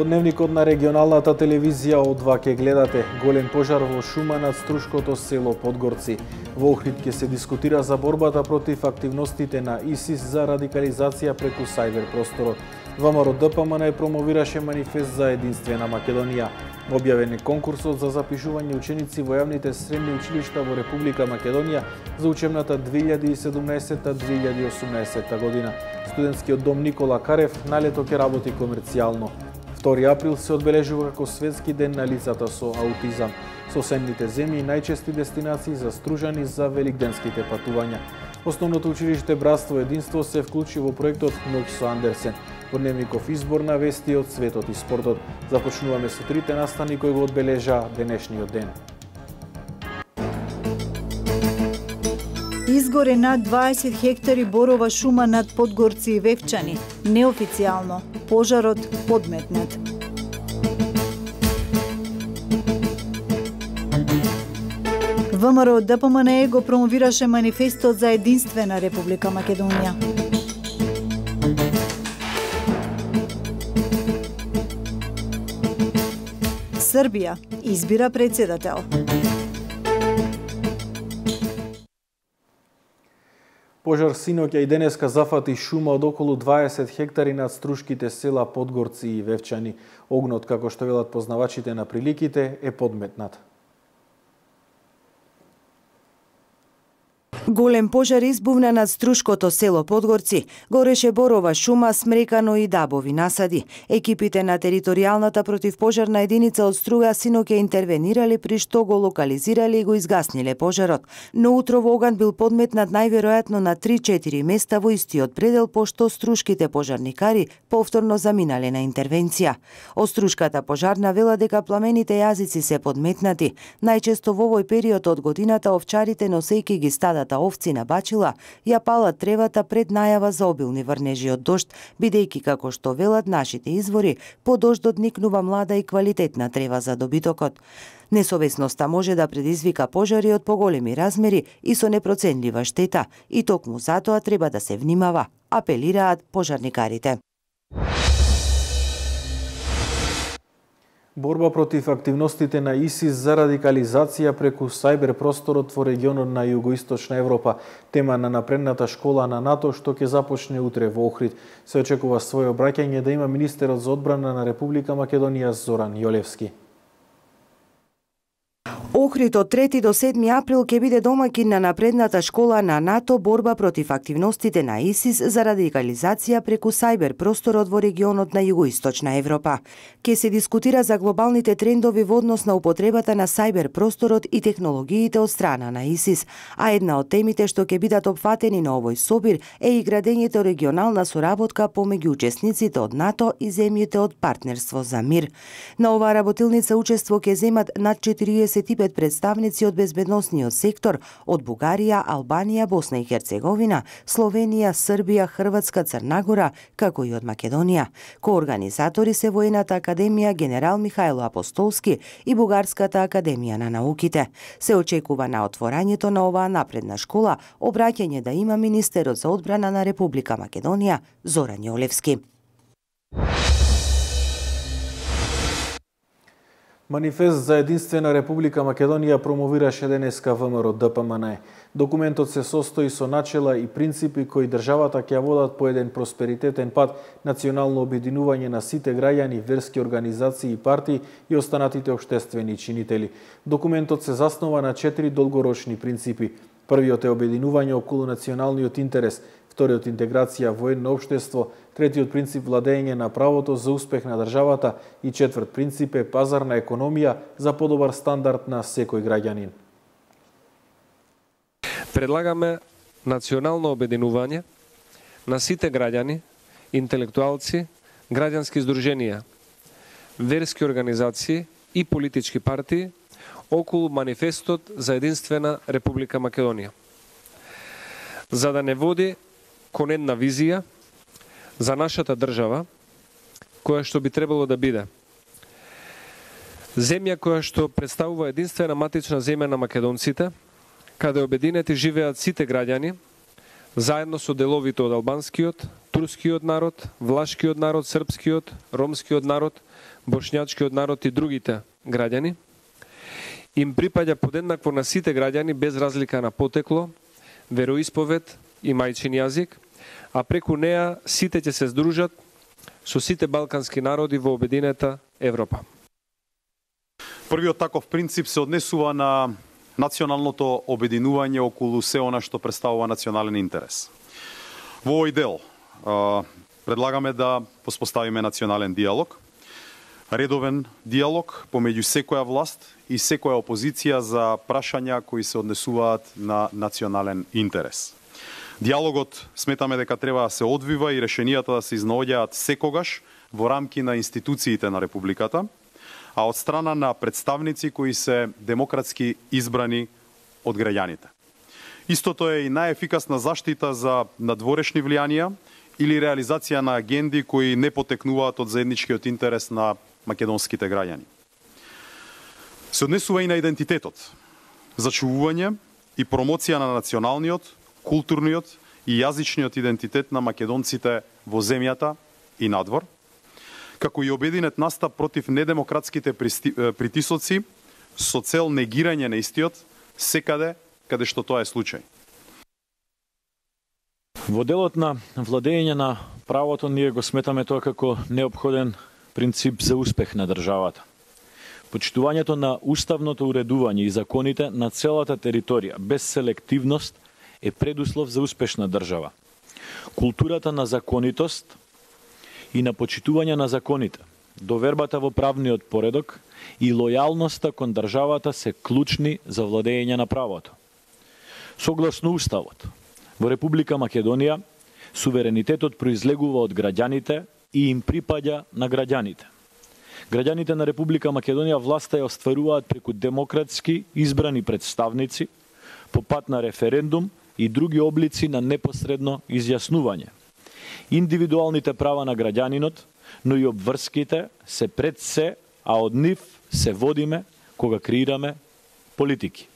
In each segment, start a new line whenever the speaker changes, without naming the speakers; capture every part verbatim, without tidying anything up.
Дневникот на регионалната телевизија од два ке гледате. Голем пожар во шума над Струшкото село Подгорци. Во Охрид ќе се дискутира за борбата против активностите на ИСИС за радикализација преку сајбер просторот. ВМРО Д П М Н промовираше манифест за единствена Македонија. Објавен е конкурсот за запишување ученици во јавните средни училишта во Република Македонија за учебната две илјади и седумнаесетта две илјади и осумнаесетта година. Студентскиот дом Никола Карев на лето ќе работи комерцијално. втори април се одбележува како Светски ден на лицата со аутизам. Соседните земји најчести дестинации за стружани за великденските патувања. Основното училиште Братство единство се вклучи во проектот Ноќ со Андерсен. Во Дневников избор на вести од светот и спортот. Започнуваме со трите настани кои го одбележа денешниот ден.
Изгоре над дваесет хектари борова шума над Подгорци и Вевчани. Неофицијално, пожарот подметнат. ВМРО Д П М Н го промовираше манифестот за единствена Република Македонија. Србија избира председател.
Пожар синоќа и денеска зафати шума од околу дваесет хектари над струшките села Подгорци и Вевчани. Огнот, како што велат познавачите на приликите, е подметнат.
Голем пожар избувна над Струшкото село Подгорци. Гореше борова шума, смрекано и дабови насади. Екипите на територијалната противпожарна единица од Струга синоќа интервенирале, при што го локализирале и го изгасниле пожарот. Но утрово оган бил подметнат најверојатно на три-четири места во истиот предел, пошто струшките пожарникари повторно заминале на интервенција. Острушката пожарна вела дека пламените јазици се подметнати. Најчесто во овој период од годината овчарите, носејќи ги стадата овци на бачила, ја палат тревата пред најава за обилни врнежи од дожд, бидејќи како што велат нашите извори, по дождот никнува млада и квалитетна трева за добитокот. Несовесноста може да предизвика пожари од поголеми размери и со непроценлива штета, и токму затоа треба да се внимава, апелираат пожарникарите.
Борба против активностите на ИСИС за радикализација преку сајбер просторот во регионот на Југоисточна Европа. Тема на напредната школа на НАТО што ќе започне утре во Охрид. Се очекува своје обраќање да има министерот за одбрана на Република Македонија Зоран Јолевски.
Охрид од трети до седми април ќе биде домаќин на напредната школа на НАТО борба против активностите на ИСИС за радикализација преку сајбер просторот во регионот на Југоисточна Европа. Ке се дискутира за глобалните трендови во однос на употребата на сајбер просторот и технологиите од страна на ИСИС, а една од темите што ќе бидат опфатени на овој собир е и градењето регионална соработка помеѓу учесниците од НАТО и земјите од партнерство за мир. На оваа работилница учество ќе земат над четириесет и пет представници од безбедносниот сектор од Бугарија, Албанија, Босна и Херцеговина, Словенија, Србија, Хрватска, Црна Гора, како и од Македонија. Коорганизатори се Воената академија Генерал Михајло Апостолски и Бугарската академија на науките. Се очекува на отворањето на оваа напредна школа обраќање да има министерот за одбрана на Република Македонија Зоран Јолевски.
Манифест за единствена Република Македонија промовираше денеска ВМРО Д П М Н. Документот се состои со начела и принципи кои државата ќе водат по еден просперитетен пат, национално обединување на сите граѓани, верски организации и партии и останатите општествени чинители. Документот се заснова на четири долгорочни принципи. Првиот е обединување околу националниот интерес, вториот интеграција во едно општество, третиот принцип владење на правото за успех на државата и четврт принцип е пазарна економија за подобар стандард на секој граѓанин.
Предлагаме национално обединување на сите граѓани, интелектуалци, граѓански здруженија, верски организации и политички партии околу манифестот за единствена Република Македонија. За да не води кон една визија за нашата држава, која што би требало да биде земја која што представува единствена матична земја на македонците, каде обединети живеат сите граѓани, заедно со деловите од албанскиот, турскиот народ, влашкиот народ, српскиот, ромскиот народ, бошњачкиот народ и другите граѓани, им припаѓа подеднакво на сите граѓани без разлика на потекло, вероисповед и мајчин јазик, а преку неа сите ќе се здружат со сите балкански народи во обединета Европа.
Првиот таков принцип се однесува на националното обединување околу се она што представува национален интерес. Во овој дел предлагаме да поспоставиме национален диалог, редовен диалог помеѓу секоја власт и секоја опозиција за прашања кои се однесуваат на национален интерес. Диалогот сметаме дека треба да се одвива и решенијата да се изнаоѓаат секогаш во рамки на институциите на Републиката, а од страна на представници кои се демократски избрани од граѓаните. Истото е и најефикасна заштита за надворешни влијанија или реализација на агенди кои не потекнуваат од заедничкиот интерес на македонските граѓани. Се однесува и на идентитетот, зачувување и промоција на националниот, културниот и јазичниот идентитет на македонците во земјата и надвор, како и обединет настап против недемократските притисоци со цел негирање на истиот секаде каде што тоа е случај.
Во делот на владење на правото ние го сметаме тоа како неопходен принцип за успех на државата. Почитувањето на уставното уредување и законите на целата територија без селективност е предуслов за успешна држава. Културата на законитост и на почитување на законите, довербата во правниот поредок и лојалноста кон државата се клучни за владење на правото. Согласно Уставот, во Република Македонија, суверенитетот произлегува од граѓаните и им припаѓа на граѓаните. Граѓаните на Република Македонија власта ја остваруваат преку демократски избрани представници, по пат на референдум и други облици на непосредно изјаснување. Индивидуалните права на граѓанинот, но и обврските се пред се, а од нив се водиме кога креираме политики.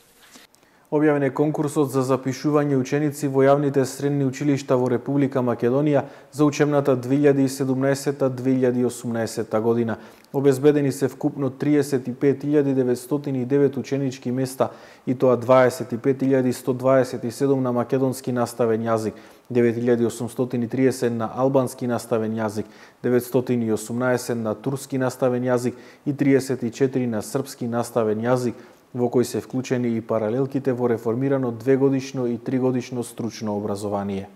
Објавен е конкурсот за запишување ученици во јавните средни училишта во Република Македонија за учебната две илјади и седумнаесета - две илјади и осумнаесета година. Обезбедени се вкупно триесет и пет илјади деветстотини и девет ученички места, и тоа дваесет и пет илјади сто дваесет и седум на македонски наставен јазик, девет илјади осумстотини и триесет на албански наставен јазик, деветстотини и осумнаесет на турски наставен јазик и триесет и четири на српски наставен јазик, во кој се вклучени и паралелките во реформирано двегодишно и тригодишно стручно образование.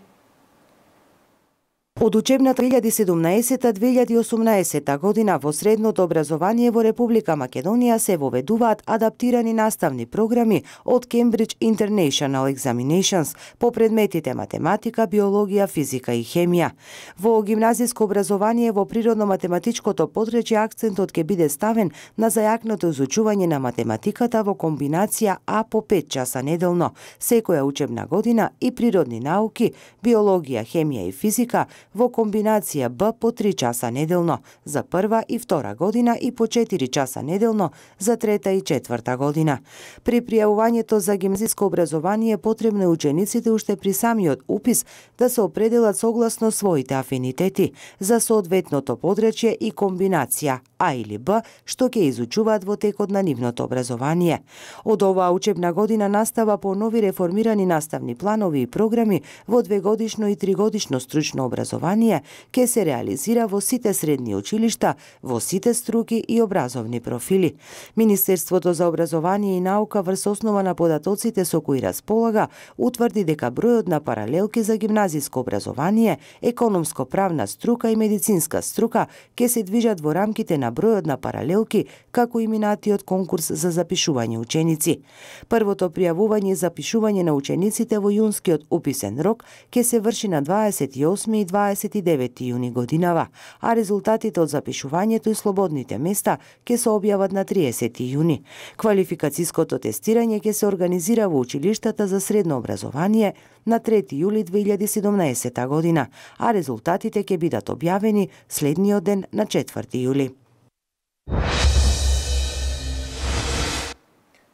Од учебната две илјади и седумнаесета - две илјади и осумнаесета година во средното образование во Република Македонија се воведуваат адаптирани наставни програми од Cambridge International Examinations по предметите математика, биологија, физика и хемија. Во гимназиско образование во природно-математичкото подречје акцентот ќе биде ставен на зајакното изучување на математиката во комбинација А по пет часа неделно, секоја учебна година, и природни науки, биологија, хемија и физика во комбинација Б по три часа неделно за прва и втора година и по четири часа неделно за трета и четврта година. При пријавувањето за гимназиско образование потребно е учениците уште при самиот упис да се определат согласно своите афинитети за соодветното подречје и комбинација А или Б, што ќе изучуваат во текот на нивното образование. Од оваа учебна година настава по нови реформирани наставни планови и програми во двегодишно и тригодишно стручно образование ќе се реализира во сите средни училишта, во сите струки и образовни профили. Министерството за образование и наука врз основа на податоците со кои располага утврди дека бројот на паралелки за гимназиско образование, економско-правна струка и медицинска струка ќе се движат во рамките на бројот на паралелки како и минатиот конкурс за запишување ученици. Првото пријавување и запишување на учениците во јунскиот уписен рок ќе се врши на дваесет и осми и дваесет и девети јуни годинава, а резултатите од запишувањето и слободните места ќе се објават на триесети јуни. Квалификациското тестирање ќе се организира во училиштата за средно образование на трети јули две илјади и седумнаесета година, а резултатите ќе бидат објавени следниот ден на четврти јули.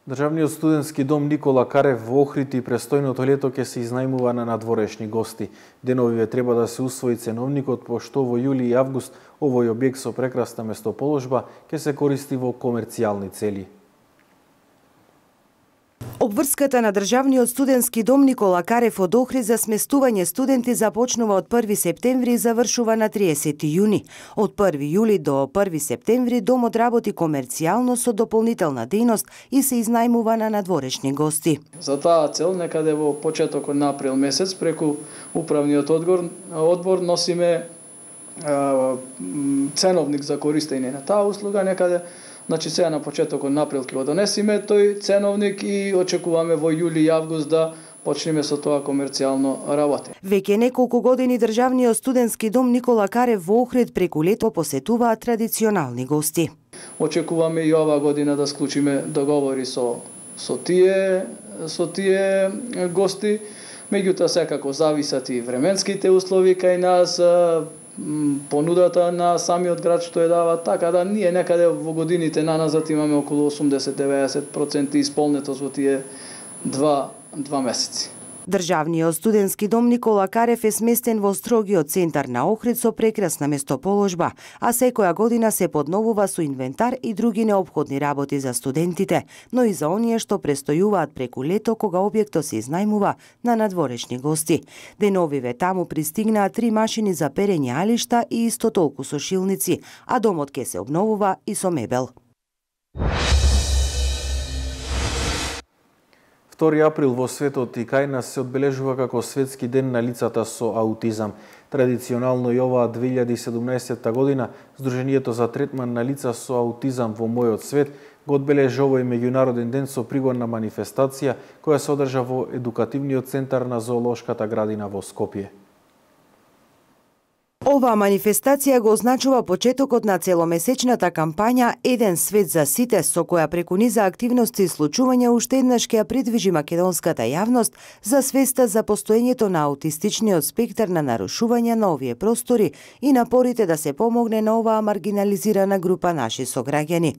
Државниот студентски дом Никола Карев во Охрид и престојното лето ќе се изнајмува на надворешни гости. Деновиве треба да се усвои ценовникот, пошто во јули и август овој објект со прекрасна местоположба ќе се користи во комерцијални цели.
Обврската на Државниот студентски дом Никола Карев од Охрид за сместување студенти започнува од први септември и завршува на триесети јуни. Од први јули до први септември домот работи комерцијално со дополнителна дејност и се изнајмува на надворешни гости.
За таа цел некаде во почетокот на април месец преку управниот одбор, одбор носиме а, ценовник за користење на таа услуга некаде. Значи сега на почетокот на април ќе го донесиме тој ценовник и очекуваме во јули и август да почнеме со тоа комерцијално работа.
Веќе неколку години Државниот студентски дом Никола Карев во Охрид преку лето посетуваат традиционални гости.
Очекуваме и ова година да склучиме договори со со тие со тие гости, меѓутоа секако зависат и временските услови кај нас, понудата на самиот град што ја дава, така да ние некаде во годините наназад имаме околу осумдесет до деветдесет проценти исполнетост во тие два, два месеци.
Државниот студентски дом Никола Карев е сместен во строгиот центар на Охрид со прекрасна местоположба, а секоја година се подновува со инвентар и други неопходни работи за студентите, но и за оние што престојуваат преку лето кога објектот се изнајмува на надворешни гости. Деновиве таму пристигнаа три машини за перење алишта и исто толку сушилници, а домот ќе се обновува и со мебел.
втори април во светот и кај нас се одбележува како светски ден на лицата со аутизам. Традиционално и оваа две илјади и седумнаесетта година Сдруженијето за третман на лица со аутизам во мојот свет го одбележи овој меѓународен ден со пригодна манифестација која се одржа во едукативниот центар на Зоолошката градина во Скопје.
Оваа манифестација го означува почетокот на целомесечната кампања Еден свет за сите, со која преку низа активности и случувања уште еднаш ќе ја придвижи македонската јавност за свеста за постоењето на аутистичниот спектар на нарушувања на овие простори и напорите да се помогне на оваа маргинализирана група наши сограѓани.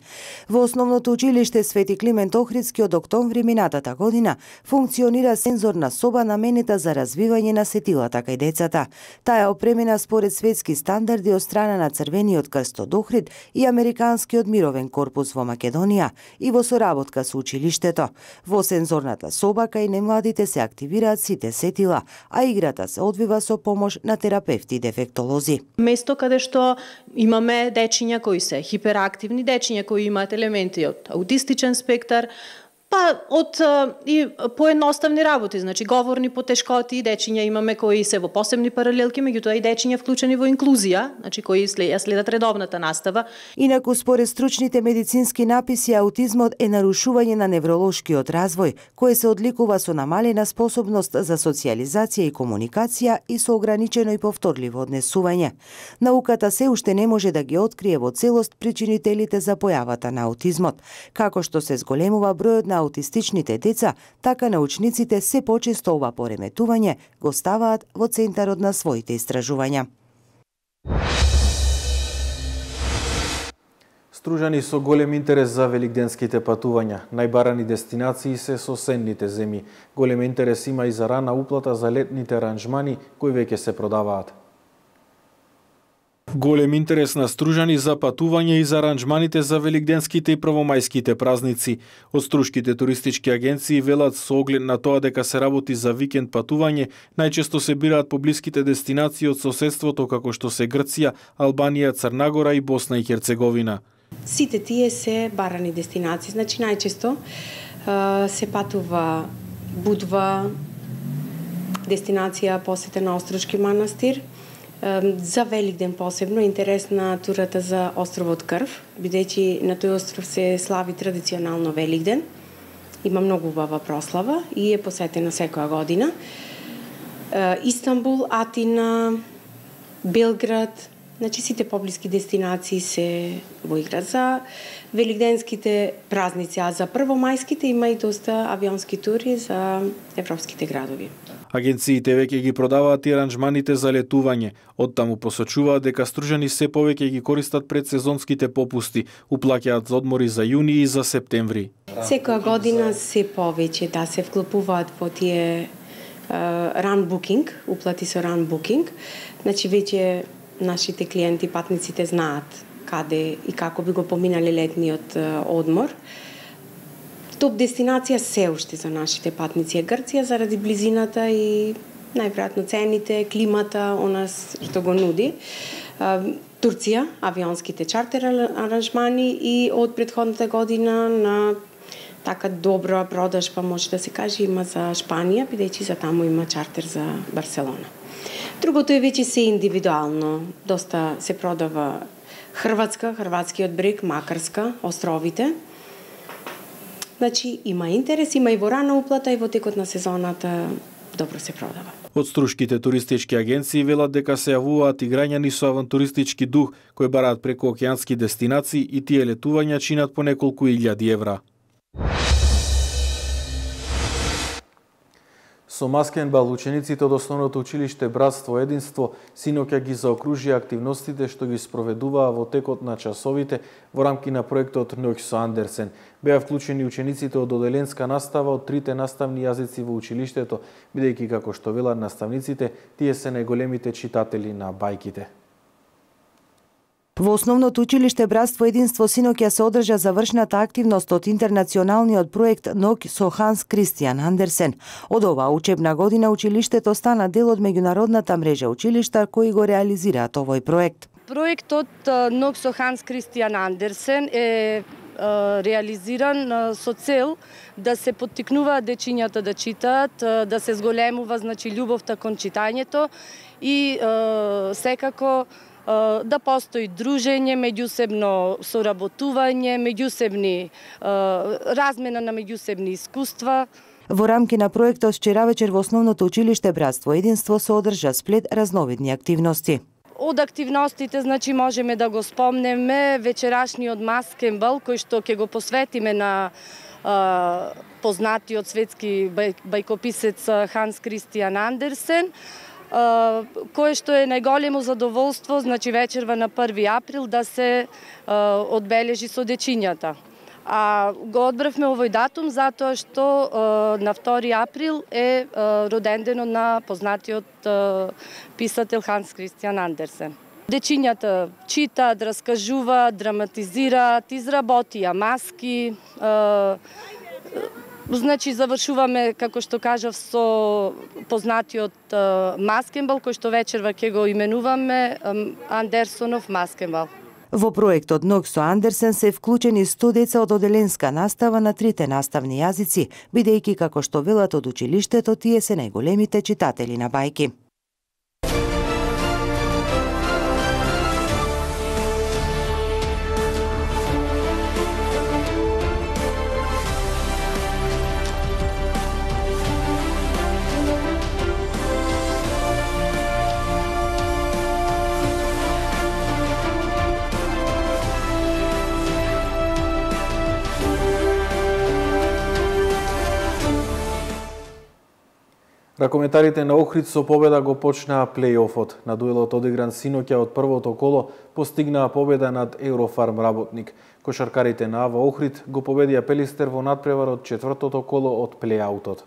Во основното училиште Свети Климент Охридски од октомври минатата година функционира сензорна соба наменета за развивање на сетилата кај децата. Таа е опремена според светски стандарди од страна на Црвениот крст од Охрид и Американскиот мировен корпус во Македонија и во соработка со училиштето. Во сензорната соба кај немладите се активираат сите сетила, а играта се одвива со помош на терапевти и дефектолози.
Место каде што имаме дечиња кои се хиперактивни, дечиња кои имаат елементи од аутистичен спектар, па од и поедноставни работи, значи говорни потешкоти, дечиња имаме кои се во посебни паралелки, меѓутоа и дечиња вклучени во инклузија, значи кои след, следат редовната настава.
Инаку според стручните медицински написи, аутизмот е нарушување на невролошкиот развој, кој се одликува со намалена способност за социјализација и комуникација и со ограничено и повторливо однесување. Науката се уште не може да ги открие во целост причинителите за појавата на аутизмот. Како што се зголемува бројот на аутистичните деца, така научниците се почесто ова пореметување го ставаат во центарот на своите истражувања.
Стружани со голем интерес за великденските патувања. Најбарани дестинации се соседните земји. Голем интерес има и за рана уплата за летните аранжмани кои веќе се продаваат. Голем интерес на стружани за патување и за аранжманите за великденските и првомајските празници. Од струшките туристички агенции велат со оглед на тоа дека се работи за викенд патување, најчесто се бираат поблиските дестинации од соседството како што се Грција, Албанија, Црна и Босна и Херцеговина.
Сите тие се барани дестинации, значи најчесто се патува Будва, дестинација посета на Острушки манастир. За Великден посебно интересна турата за островот Крв, бидејќи на тој остров се слави традиционално Великден. Има многу убава прослава и е посетена секоја година. Истанбул, Атина, Белград, значи сите поблиски дестинации се во игра за великденските празници, а за првомајските има и доста авионски тури за европските градови.
Агенциите веќе ги продаваат и аранжманите за летување. Оттаму посочуваат дека стружани се повеќе ги користат предсезонските попусти, уплаќаат за одмори за јуни и за септември.
Секоја година се повеќе да се вклопуваат во тие run booking, уплати со run booking. Значи веќе нашите клиенти, патниците знаат каде и како би го поминали летниот одмор. Топ дестинација се уште за нашите патници е Грција заради близината и најверојатно цените, климата, онас што го нуди. Турција, авионските чартер аранжмани и од претходната година на така добра продажба, може да се каже, има за Шпанија, бидејќи за таму има чартер за Барселона. Другото е веќе се индивидуално. Доста се продава Хрватска, Хрватскиот брег, Макарска, островите. Значи, има интерес, има и во рана уплата и во текот на сезоната добро се продава.
Од струшките туристички агенции велат дека се јавуваат и граѓани со авантуристички дух кои бараат преку океански дестинации и тие летувања чинат по неколку илјади евра. Со маскенбал учениците од основното училиште Братство Единство синоќа ги заокружија активностите што ги спроведуваа во текот на часовите во рамки на проектот Ноќ со Андерсен. Беа вклучени учениците од оделенска настава од трите наставни јазици во училиштето, бидејќи како што велат наставниците, тие се најголемите читатели на бајките.
Во основното училиште Братство Единство синоќа се одржа завршната активност од интернационалниот проект Ноќ со Ханс Кристијан Андерсен. Од оваа учебна година училиштето стана дел од меѓународната мрежа училишта кои го реализираат овој проект.
Проектот Ноќ со Ханс Кристијан Андерсен е реализиран со цел да се поттикнуваат дечињата да читаат, да се зголемува значи љубовта кон читањето и секако да постои дружење, меѓусебно соработување, меѓусебни размена на меѓусебни искуства.
Во рамки на проектот вчера вечер во основното училиште Братство Единство се одржа сплет разновидни активности.
Од активностите, значи, можеме да го спомнеме вечерашниот маскенбал, кој што ќе го посветиме на а, познатиот светски бај, бајкописец Ханс Кристијан Андерсен, а, кое што е најголемо задоволство, значи вечерва на први април да се а, одбележи со дечињата. А го одбравме овој датум затоа што е, на втори април е, е роденденот на познатиот е, писател Ханс Кристијан Андерсен. Дечињата читаат, раскажуваат, драматизираат, изработија маски. Е, значи завршуваме, како што кажав, со познатиот е, маскенбал, кој што вечерва ќе го именуваме е, Андерсонов маскенбал.
Во проектот Ноќ со Андерсен се вклучени сто деца од оделенска настава на трите наставни јазици, бидејќи како што велат од училиштето, тие се најголемите читатели на бајки.
Ракометарите на Охрид со победа го почнаа плејофот. На дуелот одигран синоќа од првото коло постигнаа победа над Еврофарм Работник. Кошаркарите на АВА Охрид го победија Пелистер во надпревар од четвртото коло од плејаутот.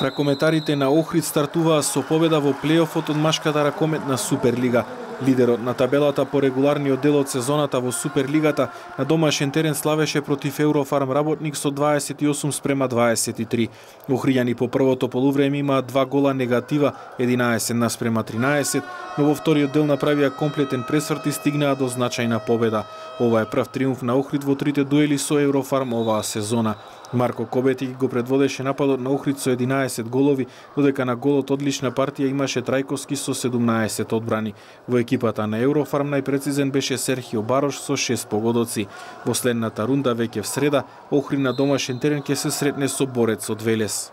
Ракометарите на Охрид стартуваа со победа во плејофот од машката ракометна Суперлига. Лидерот на табелата по регуларниот дел од сезоната во Суперлигата на домашен терен славеше против Еврофарм Работник со дваесет и осум спрема дваесет и три. Охријани по првото полувреме имаат два гола негатива, единаесет наспрема тринаесет, но во вториот дел направија комплетен пресврт и стигнаа до значајна победа. Ова е прв триумф на Охрид во трите дуели со Еврофарм оваа сезона. Марко Кобетик го предводеше нападот на Охрид со единаесет голови, додека на голот одлична партија имаше Трајковски со седумнаесет одбрани. Во екипата на Еврофарм најпрецизен беше Серхио Барош со шест погодоци. Во следната рунда веќе в среда, Охрид на домашен терен ќе се сретне со Борец од Велес.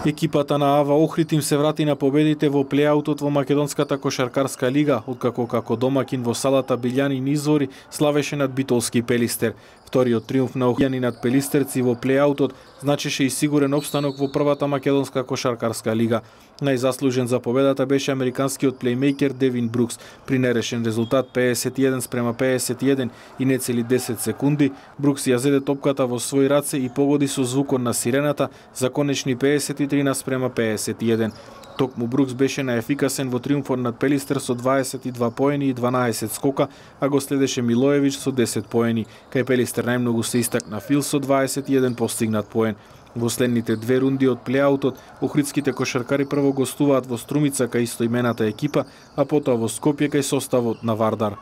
Екипата на АВА Охрид им се врати на победите во плејаутот во Македонската кошаркарска лига, откако како домакин во салата Билјанин Извори славеше над Битолски Пелистер. Вториот триумф на Охјани над Пелистерци во плејаутот значеше и сигурен опстанок во првата македонска кошаркарска лига. Најзаслужен за победата беше американскиот плеймејкер Девин Брукс. При нерешен резултат педесет и еден спрема педесет и еден и нецели десет секунди, Брукс ја зеде топката во своји раце и погоди со звукот на сирената за конечни педесет и три спрема педесет и еден. Токму Брукс беше најефикасен во триумфот над Пелистер со дваесет и два поени и дванаесет скока, а го следеше Милоевич со десет поени. Кај Пелистер најмногу се истакна Фил со дваесет и еден постигнат поен. Во следните две рунди од плејаутот, охридските кошаркари прво гостуваат во Струмица кај истоимената екипа, а потоа во Скопје кај составот на Вардар.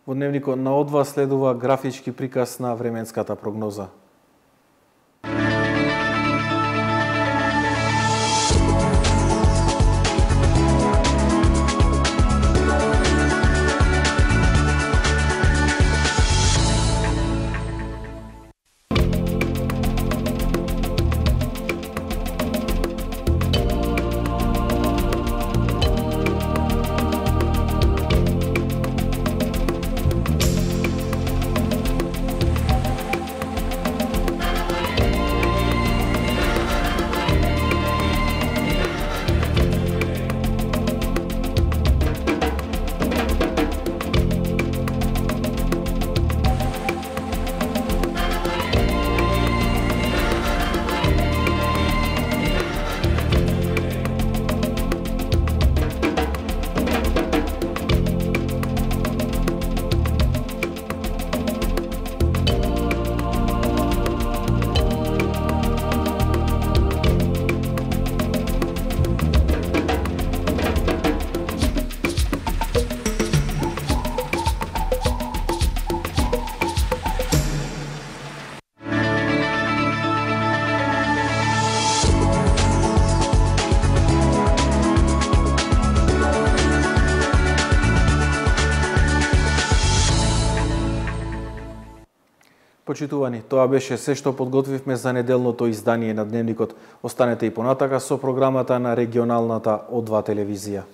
Во дневникот на Одва следува графички приказ на временската прогноза. Почитувани, тоа беше се што подготвивме за неделното издание на Дневникот. Останете и понатака со програмата на регионалната О два телевизија.